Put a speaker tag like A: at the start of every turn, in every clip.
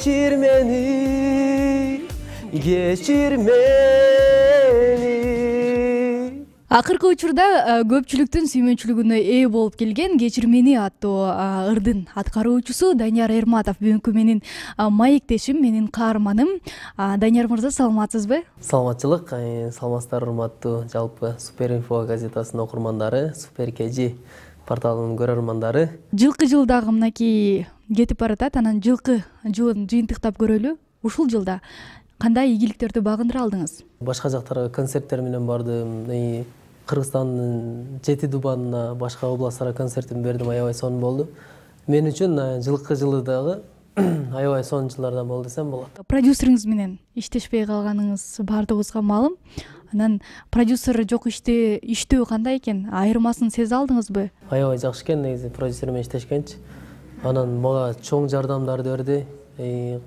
A: кечир мени, кечир мени.
B: Акыркы учурда көпчүлүктүн сүймөнчүлүгүнө ээ болуп келген «Кечир мени» аттуу ырдын аткаруучусу Данияр Эрматов бүгүнкү менин маектешим, менин каарманым. Данияр мырза, саламатсызбы?
A: Саламатчылык, саламатсыздар урматтуу жалпы Супер Инфо газетасынын окурмандары, Супер КЖ порталынын көрөрмандары.
B: Жылкы жыл дагы мынакей кетип баратат, анан жылкы жылын жыйынтыктап көрөлү. Ушул жылда кандай ийгиликтерди багындыра алдыңыз?
A: Башка жактарга концерттер менен бардым. Кыргызстандын 7 Дубанына, башка областтарга концертин бердим, аябай сонун болду. Мен үчүн жылкы жылы дагы аябай сонун жылдардан болду десем болот.
B: Продюсериңиз менен иштешпей калганыңыз баардыгыбызга маалым. Анан продюсер жок иштөө кандай экен? Айырмасын сезе алдыңызбы?
A: Аябай жакшы экен негизи продюсер менен иштешкенчи. Анан мага чоң жардамдарды берди.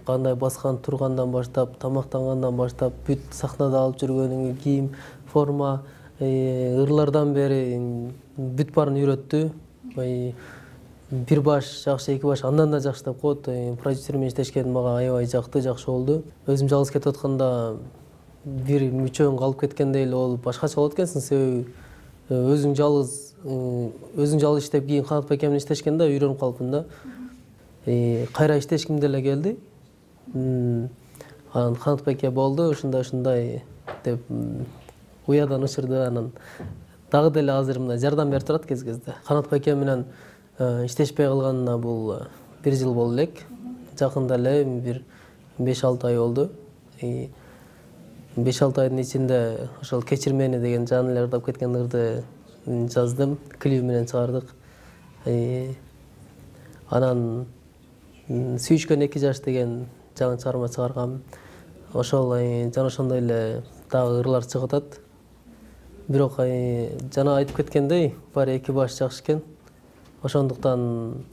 A: Кандай баскан тургандан баштап, тамактангандан баштап, бүт сахнада алып жүргөнүң кийим, форма, ырлардан бери бүт баарын үйрөттү. Бир баш жакшы, эки баш андан да жакшы деп коет. Продюсер менен иштешкен мага аябай жакты, жакшы болду. Өзүм жалгыз кетип атканда бир мүчөң калып кеткенде эле ол башкача болот экенсиң, себеби өзүң жалгыз иштеп кийин Канат байке менен иштешкенде үйрөнүп калыпмын да. Кайра иштешким деле келди. Анан Канат байке болду, ушундай деп уядан учурду. Анан дагы деле азыр мындай жардам берип турат кез-кезде. Канат байке менен иштешпей калганына бул 1 жыл болду элек. Жакында эле бир 5-6 ай болду. 5-6 айдын ичинде ошол «Кечир мени» деген жан эле ырдап кеткен ырды жаздым, клип менен чыгардык. Анан «Сүйүшкөн 2 жаш» деген жаңы чыгарма чыгаргам. Ошол жана ошондой эле дагы ырлар чыгып атат. Бирок жана айтып кеткендей, баары 2 баш жакшы экен. Ошондуктан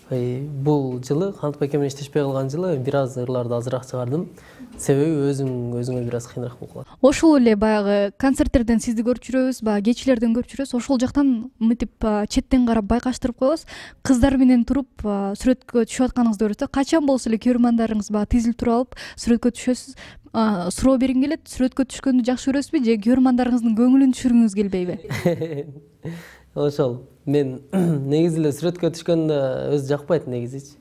A: бул жылы Канат байке менен иштешпей калган жылы бир аз ырларды азыраак чыгардым. Себеби өзүңө бир аз кыйыныраак болуп калат.
B: Ошол эле баягы концерттерден сизди көрүп жүрөбүз, баягы кечилерден көрүп жүрөбүз. Ошол жактан мынтип четтен карап байкаштырып коебуз. Кыздар менен туруп сүрөткө түшүп атканыңызды көрөбүз. Качан болсо эле көрөрмандарыңыз баягы тизилип туруп алып сүрөткө түшөсүз. Суроо бергим келет, сүрөткө түшкөндү жакшы көрөсүзбү же көрөрмандарыңыздын көңүлүн түшүргүңүз келбейби?
A: Ошол мен негизи эле сүрөткө түшкөндө өзү жакпайт негизичи.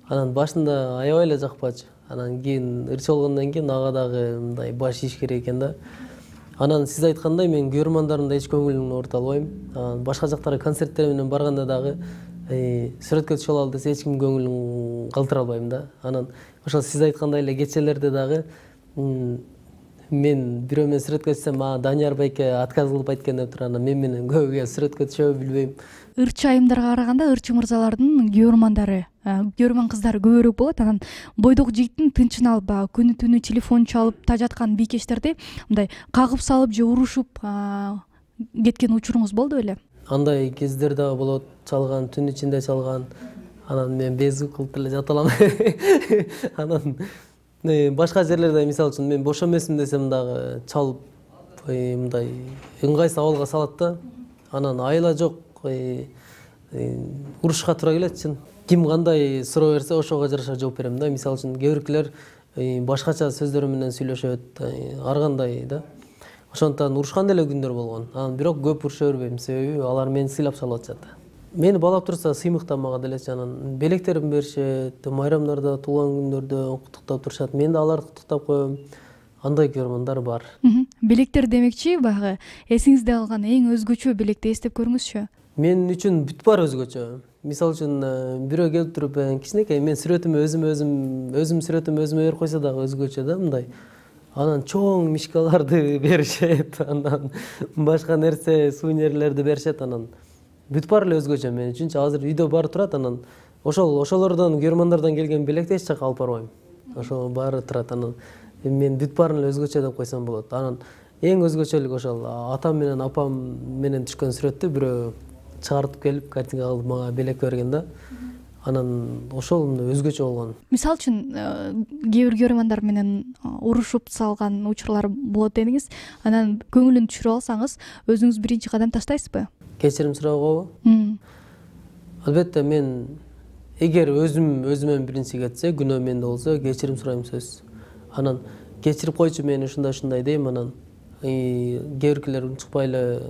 A: Анан башында аябай эле жакпачу. Анан кийин ырчы болгондон кийин ага дагы мындай баш ийиш керек экен да. Анан сиз айткандай мен көрөрмандарымда эч көңүлүн оорута албайм. Башка жактарга концерттер менен барганда дагы сүрөткө түшө алалы десе эч ким көңүлүн калтыра албайм да. Анан ошол сиз айткандай эле кечелерде дагы мен бирөө менен сүрөткө түшсөм, Данияр байке отказ кылып айткан деп туруп, анан мен менен көбүгө сүрөткө түшөбү билбейм.
B: Ырчы айымдарга караганда ырчы мырзалардын көрөрмандары, көрөрман кыздары көбүрөөк болот. Анан бойдок жигиттин тынчын алып, күнү түнү телефон чалып тажаткан бийкечтерди мындай кагып салып же урушуп кеткен учуруңуз болду беле?
A: Андай кездер дагы болот, чалган, түн ичинде чалган. Анан мен безүк кылып деле жата алам. Анан башка жерлерде, мисалы үчүн мен бош эмесмин десем дагы чалып мындай ыңгайсыз абалга салат да. Анан айла жок, урушка туура келет чын. Ким кандай суроо берсе ошого жараша жооп берем да. Мисалы үчүн кээ биркилер башкача сөздөр менен сүйлөшөт, ар кандай да. Ошондуктан урушкан деле күндөр болгон. Анан бирок көп уруша бербейм, себеби алар мени сыйлап чалып атышат. Мени баалап турса сыймыктан мага делечи. Анан белектерин беришет, майрамдарда, туулган күндөрдө куттуктап турушат. Мен да аларды куттуктап коем. Андай көрөрмандар бар.
B: Белектер демекчи, баягы эсиңизде калган эң өзгөчө белекти эстеп көрүңүзчү.
A: Мен үчүн бүт баары өзгөчө. Мисалы үчүн бирөө келип туруп кичинекей мен сүрөтүмө өзүм сүрөтүмө өзүмө берип койсо дагы өзгөчө да мындай. Анан чоң мишкаларды беришет, анан башка нерсе, сувенирлерди беришет, анан бүт баары эле өзгөчө мен үчүнчү. Азыр үйдө баары турат, анан ошолордон көрөрмандардан келген белекти эч жакка алып барбайм. Ошол баары турат, анан мен бүт баарын эле өзгөчө деп койсом болот. Анан эң өзгөчөлүк ошол атам менен апам менен түшкөн сүрөттү бирөө чыгартып келип картинка кылып мага белек берген да. Анан ошол өзгөчө болгон.
B: Мисалы үчүн кээ бир көрөрмандар менен урушуп салган учурлар болот дедиңиз. Анан көңүлүн түшүрүп алсаңыз, өзүңүз биринчи кадам таштайсызбы?
A: Кечирим суроого? Албетте, мен эгер өзүмөн биринчи кетсе, күнөө менде болсо кечирим сурайм сөзсүз. Анан кечирип койчу, мен ушундай дейм, анан кээ биркилер унчукпай эле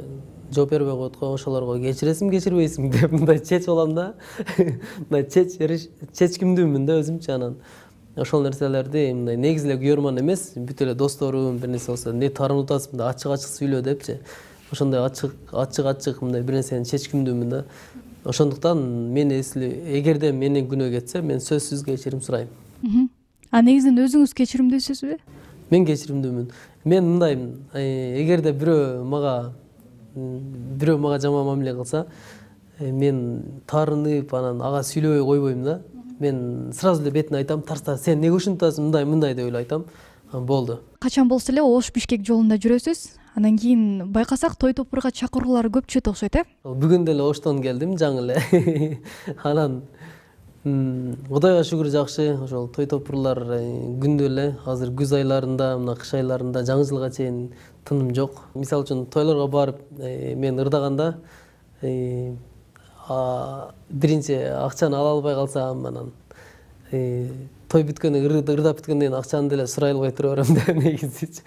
A: жооп бербей коет го, ошолорго кечиресиңби, кечирбейсиңби деп мындай чечип алам да. Мындай чечкимдүүмүн да өзүмчү. Анан ошол нерселерди мындай негизи эле күйөрман эмес, бүт эле досторум бир нерсе болсо, не таарынып атасың, мындай ачык сүйлө депчи. Ошондой ачык мындай бир нерсени чечкимдүүмүн да. Ошондуктан мен эгерде менен күнөө кетсе, мен сөзсүз кечирим сурайм.
B: Негизинен өзүңүз кечиримдүүсүзбү?
A: Мен кечиримдүүмүн. Мен мындаймын, эгерде бирөө мага жаман мамиле кылса, мен таарынып, анан ага сүйлөбөй койбойм да. Мен сразу эле бетине айтам, тарса сен эмне ушинтип атасың, мындай деп эле айтам. Болду. Качан
B: болсо эле Ош Бишкек жолунда жүрөсүз. Анан кийин байкасак той топурга чакыруулар көп түшөт окшойт,
A: Бүгүн деле Оштон келдим, жаңы эле. Анан Кудайга шүгүр жакшы, ошол той топурлар күндө эле. Азыр күз айларында, мына кыш айларында жаңы жылга чейин тыным жок. Мисалы үчүн тойлорго барып, мен ырдаганда биринчи акчаны ала албай калсам, анан той бүткөндөн ырдап бүткөндөн кийин акчаны деле сурай албай тура берем да, негизичи.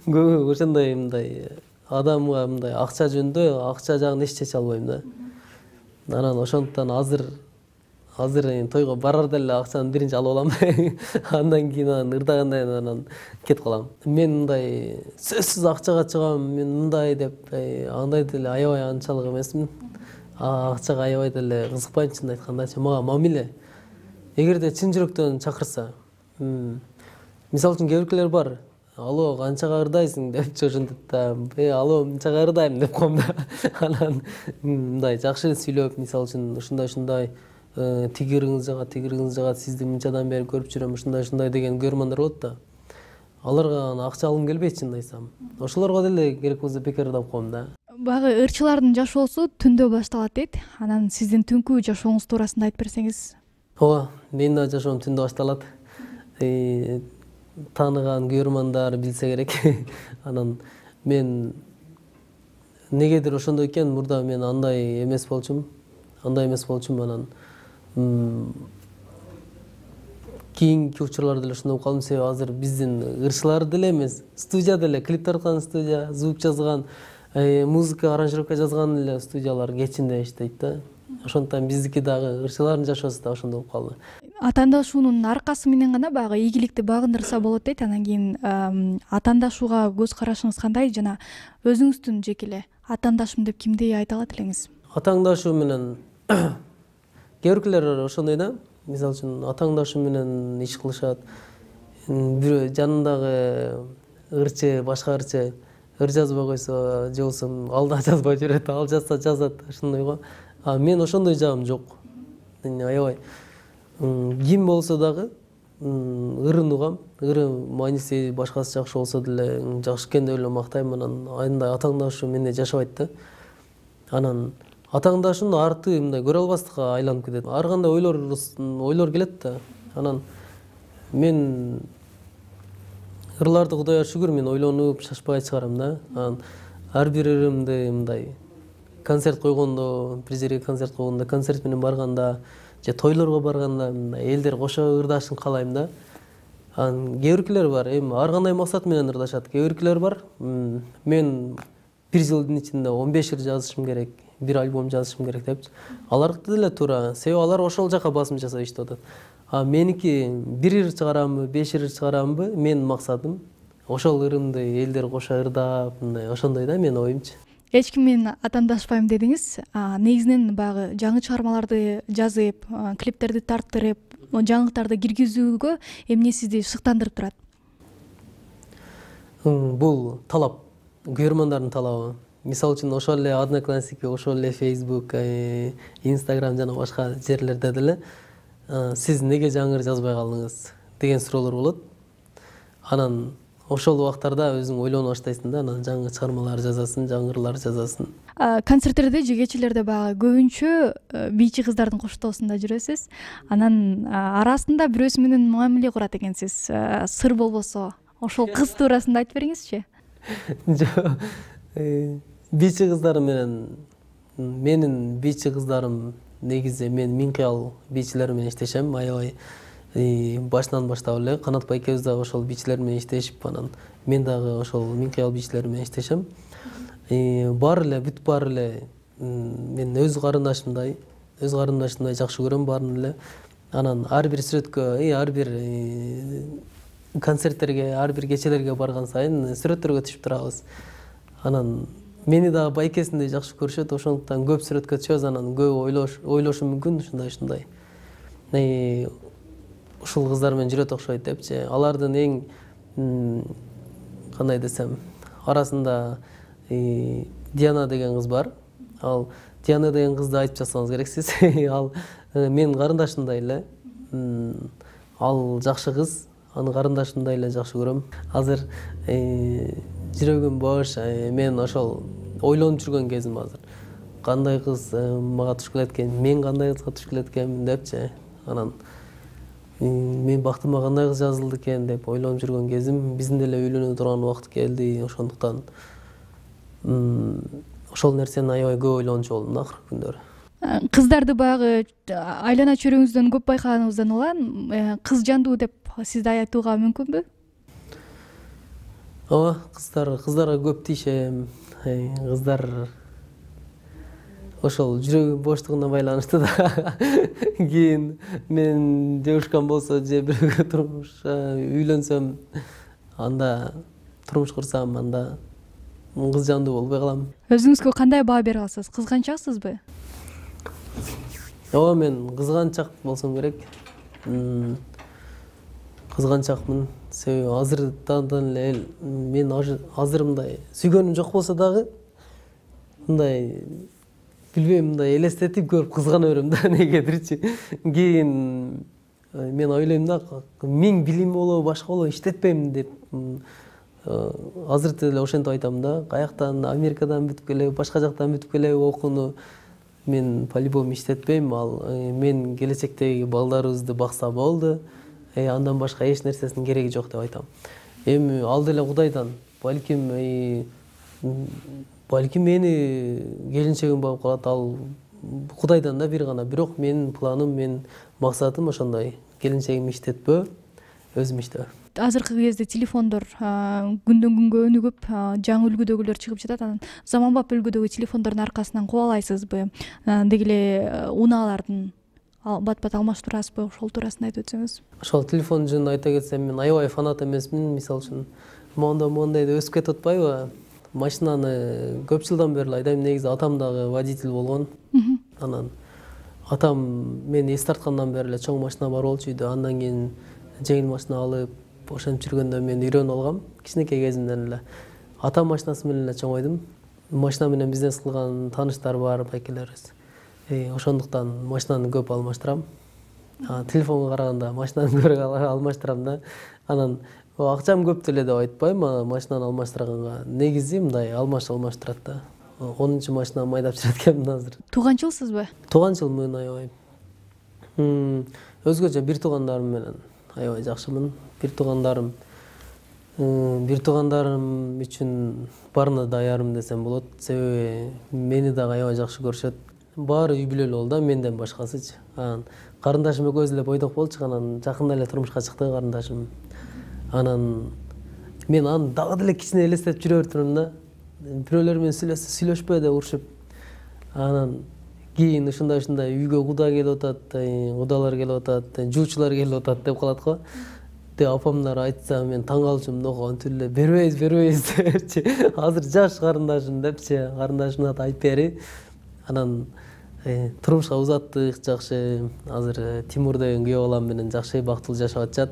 A: Көбү ошондой мындай адамга мындай акча жөнүндө акча жагын эч чече албайм да. Анан ошондуктан азыр тойго барарда эле акчаны биринчи алып алам. Андан кийин ырдагандан кийин анан кетип калам. Мен мындай сөзсүз акчага чыгам, мен мындай деп андай деле аябай анчалык эмесмин. Акчага аябай деле кызыкпайм, чынын айткандачы. Мага мамиле. Эгерде чын жүрөктөн чакырса, мисалы үчүн кээ биркилер бар, алло, канчага ырдайсың депчи, ошентип да, алло, мынчага ырдайм деп коем да. Анан мындай жакшы сүйлөп, мисалы үчүн ушундай тиги ырыңыз жагат, сизди мынчадан бери көрүп жүрөм, ушундай деген көрмандар болот да. Аларга акча алгым келбейт, чынын айтсам. Ошолорго деле керек болсо бекер ырдап коем да.
B: Баягы ырчылардын жашоосу түндө башталат дейт. Анан сиздин түнкү жашооңуз туурасында айтып берсеңиз.
A: Ооба, менин да жашоом түндө башталат. Тааныган күйөрмандар билсе керек. Анан мен негедир ошондой экен, мурда мен андай эмес болчумун. Анан кийинки учурларда деле ошондой болуп калдым. Себеби азыр биздин ырчылар деле эмес, студия деле, клип тарткан студия, звук жазган, музыка, аранжировка жазган эле студиялар кечинде иштейт да. Ошондуктан биздики дагы ырчылардын жашоосу да ошондой болуп калды.
B: Атаандашуунун аркасы менен гана баягы ийгиликти багындырса болот дейт. Анан кийин атаандашууга көз карашыңыз кандай жана өзүңүздүн жеке эле атаандашым деп кимди айта алат элеңиз?
A: Атаандашуу менен кээ биркилер ошондой да. Мисалы үчүн атааңдашы менен иш кылышат. Бирөө жанындагы ырчы, башка ыр жазбай койсо, же болбосо ал да жазбай жүрөт, ал жазса жазат, ошондой го. Мен ошондой жагым жок. Аябай ким болсо дагы ырын угам, ыры мааниси башкасы жакшы болсо деле жакшы экен деп эле мактайм. Анан андай атааңдашуу менде жашабайт да. Анан атааңдашуунун арты мындай көрө албастыкка айланып кетет. Ар кандай ойлор келет да. Анан мен ырларды Кудайга шүгүр мен ойлонуп шашпай чыгарам да. Анан ар бир ырымды мындай концерт койгондо, бир жерге концерт койгондо, концерт менен барганда, же тойлорго барганда элдер кошо ырдашын каалайм да. Анан кээ биркилер бар, ар кандай максат менен ырдашат. Кээ биркилер бар, мен бир жылдын ичинде 15 ыр жазышым керек, бир альбом жазышым керек депчи. Алардыкы деле туура, себеби алар ошол жака басым жасап иштеп атат. Меники бир ыр чыгарамбы, 5 ыр чыгарамбы, менин максатым ошол ырымды элдер кошо ырдап, мындай ошондой да менин оюмчу.
B: Эч ким менен атаандашпайм дедиңиз. Негизинен баягы жаңы чыгармаларды жазып, клиптерди тарттырып, жаңылыктарды киргизүүгө эмне сизди шыктандырып турат?
A: Бул талап, күйөрмандардын талабы. Мисалы үчүн ошол эле Одноклассники, ошол эле Facebook, Instagram жана башка жерлерде деле сиз неге жаңы ыр жазбай калдыңыз деген суроолор болот. Анан ошол убактарда өзүң ойлонуп баштайсың да, анан жаңы чыгармалар жазасың, жаңы ырлар жазасың.
B: Концерттерде же кечелерде баягы көбүнчө бийчи кыздардын коштоосунда жүрөсүз. Анан арасында бирөөсү менен мамиле курат экенсиз. Сыр болбосо, ошол кыз туурасында айтып бериңизчи.
A: Бийчи кыздар менен менин бийчи кыздарым негизи мен Минкыял бийчилер менен иштешем, аябай башынан баштап эле Канатбай экөөбүз дагы ошол бийчилер менен иштешип, анан мен дагы ошол Минкыял бийчилер менен иштешем. Баары эле бүт баары эле мен өз карындашымдай жакшы көрөм баарын эле. Анан ар бир сүрөткө, ар бир концерттерге, ар бир кечелерге барган сайын сүрөттөргө түшүп турабыз. Анан мени дагы байкесиндей жакшы көрүшөт, ошондуктан көп сүрөткө түшөбүз, анан көп ойлошу мүмкүн ушундай. Ушул кыздар менен жүрөт окшойт депчи. Алардын эң кандай десем, арасында Диана деген кыз бар. Ал Диана деген кызды айтып жатсаңыз керек сиз. Ал менин карындашымдай эле. Ал жакшы кыз, аны карындашымдай эле жакшы көрөм. Азыр жүрөгүм бош, мен ошол ойлонуп жүргөн кезим азыр. Кандай кыз мага туш келет экен, мен кандай кызга туш келет экенмин депчи. Анан мен бактыма кандай кыз жазылды экен деп ойлонуп жүргөн кезим, биздин деле үйлөнө турган убакыт келди. Ошондуктан ошол нерсени аябай көп ойлончу болдум да акыркы күндөрү.
B: Кыздарды баягы айлана чөйрөңүздөн көп байкаганыңыздан улам кыз жандуу деп сизди айтууга мүмкүнбү?
A: Ооба, кыздарга көп тийишем. Кыздар ошол жүрөгүм боштугуна байланыштуу да. Кийин мен девушкам болсо же бирөөгө үйлөнсөм, анда турмуш курсам, анда кыз жандуу болбой калам.
B: Өзүңүзгө кандай баа бере аласыз? Кызганчаксызбы?
A: Ооба, мен кызганчак болсом керек. Кызганчакмын. Себеби азырдан эле мен азыр мындай сүйгөнүм жок болсо дагы мындай билбейм, мындай элестетип көрүп кызгана берем да негедирчи. Кийин мен ойлойм да, миң билими болобу, башка болобу, иштетпейм деп. Азыр деле ошентип айтам да, каяктан, Америкадан бүтүп келеби, башка жактан бүтүп келеби окууну мен по-любому иштетпейм. Ал мен келечектеги балдарыбызды бакса болду. Андан башка эч нерсесинин кереги жок деп айтам. Эми ал деле Кудайдан, балким мени келинчегим болуп калат, ал Кудайдан да бир гана. Бирок менин планым, менин максатым ошондой. Келинчегимди иштетпөө, өзүм иштөө.
B: Азыркы кезде телефондор күндөн күнгө өнүгүп, жаңы үлгүдөгүлөр чыгып жатат. Анан заманбап үлгүдөгү телефондордун аркасынан кубалайсызбы? Деги эле унаалардын бат-бат алмаштырасызбы? Ошол туурасында айтып өтсөңүз. Ошол
A: телефон жөнүндө айта кетсем, мен аябай фанат эмесмин. Мисалы үчүн, моундай деп өсүп кетип атпайбы? Машинаны көп жылдан бери айдайм. Негизи атам дагы водитель болгон. Анан атам мени эс тарткандан бери эле чоң машина бар болчу үйдө. Андан кийин жеңил машина алып, ошентип жүргөндө мен үйрөнүп алгам. Кичинекей кезимден эле атам машинасы менен эле чоңойдум. Машина менен бизнес кылган тааныштар бар, байкелерибиз. Ошондуктан машинаны көп алмаштырам. Телефонго караганда машинаны көбүрөөк алмаштырам да. Анан акчам көп деле деп айтпайм, машинаны алмаштырганга. Негизи мындай алмаштырат да. 10-чу машина майдап жүрөт экенмин азыр.
B: Тууганчылсызбы?
A: Тууганчылмын аябай. Өзгөчө бир туугандарым менен аябай жакшымын. Бир туугандарым үчүн баарына даярмын десем болот. Себеби мени дагы аябай жакшы көрүшөт. Баары үй бүлөлүү болду да, менден башкасычы. Карындашым экөөбүз эле бойдок болчук, анан жакында эле турмушка чыкты карындашым. Анан мен аны дагы деле кичине элестетип жүрө бердим да. Бирөөлөр менен сүйлөшпө деп урушуп. Анан кийин ушундай үйгө куда келип атат, кудалар келип атат, жуучулар келип атат деп калат го. Деп апамдар айтса, мен таң калчумун да, антип эле бербейбиз депчи. Азыр жаш карындашым депчи, карындашымды айтып бери. Анан турмушка узаттык жакшы. Азыр Тимур деген күйөө балам менен жакшы бактылуу жашап атышат.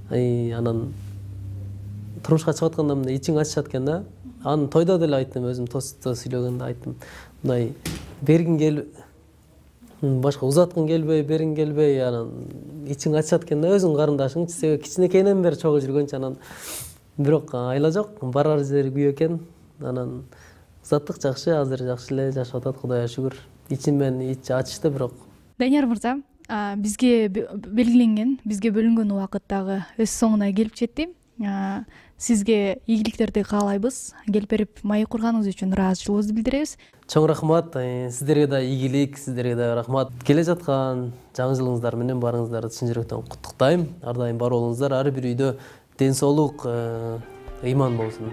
A: Анан турмушка чыгып атканда мындай ичиң ачышат экен да. Аны тойдо деле айттым, өзүм тостто сүйлөгөндө айттым. Мындай бергиң келип, башка узаткың келбей, бергиң келбей, анан ичиң ачышат экен да, өзүң карындашың. Себеби кичинекейинен бери чогуу жүргөнчү, анан бирок айла жок, барар жери күйөө экен. Анан узаттык жакшы, азыр жакшы эле жашап атат, Кудайга шүгүр. Ичимен ичи ачышты бирок.
B: Данияр мырза, бизге белгиленген, бизге бөлүнгөн убакыт дагы өз соңуна келип жетти. Сизге ийгиликтерди каалайбыз. Келип берип маек курганыңыз үчүн ыраазычылыгыбызды билдиребиз.
A: Чоң рахмат. Сиздерге да ийгилик, сиздерге да рахмат. Келе жаткан жаңы жылыңыздар менен баарыңыздарды чын жүрөктөн куттуктайм. Ар дайым бар болуңуздар. Ар бир үйдө ден соолук, ыйман болсун.